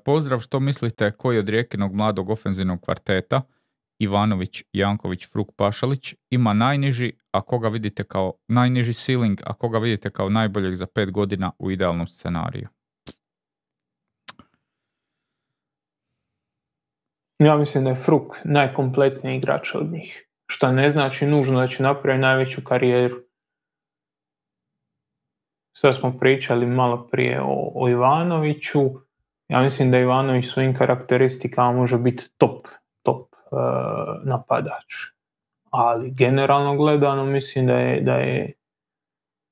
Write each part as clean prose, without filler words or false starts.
Pozdrav, što mislite koji od Rijekinog mladog ofenzivnog kvarteta Ivanović, Janković, Fruk, Pašalić ima najniži, a koga vidite kao najniži ceiling, a koga vidite kao najboljeg za 5 godina u idealnom scenariju? Ja mislim da je Fruk najkompletniji igrač od njih. Što ne znači nužno da će napraviti najveću karijeru. Sad smo pričali malo prije o Ivanoviću. Ja mislim da Ivanović svojim karakteristikama može biti top napadač. Ali generalno gledano mislim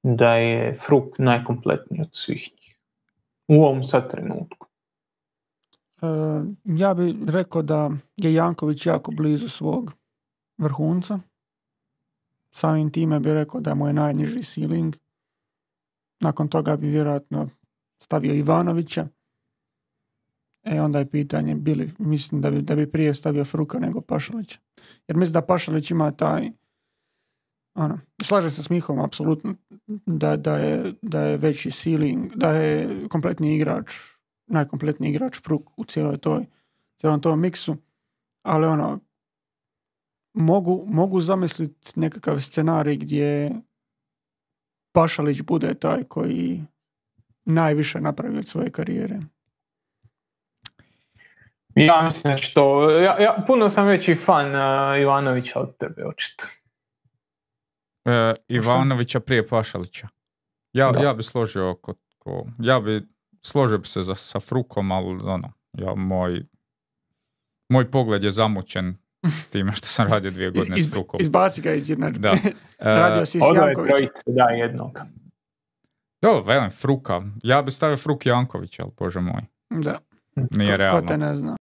da je Fruk najkompletniji od svih njih. U ovom sad trenutku. Ja bih rekao da je Janković jako blizu svog vrhunca. Samim time bih rekao da mu je najniži ceiling. Nakon toga bi vjerojatno stavio Ivanovića. Onda je pitanje, mislim da bi prije stavio Fruka nego Pašalića. Jer mislim da Pašalić ima taj, slažem se s Mihom apsolutno, da je veći ceiling, da je kompletni igrač, najkompletniji igrač Fruk u cijelom tom miksu. Ali mogu zamisliti nekakav scenarij gdje Pašalić bude taj koji najviše napravi od svoje karijere. Ja mislim da će to... Ja puno sam veći fan Ivanovića od tebe, očito. Ivanovića prije Pašalića. Ja bi složio složio bi se sa Frukom, ali moj pogled je zamućen time što sam radio 2 godine s Frukom. Izbaci ga iz jednadžbe. Radio si s Jankovićem. Da, jednog. Dobro, velim, Fruka. Ja bi stavio Fruk Janković, ali bože moj. Da. Nije realno. Ko te ne zna.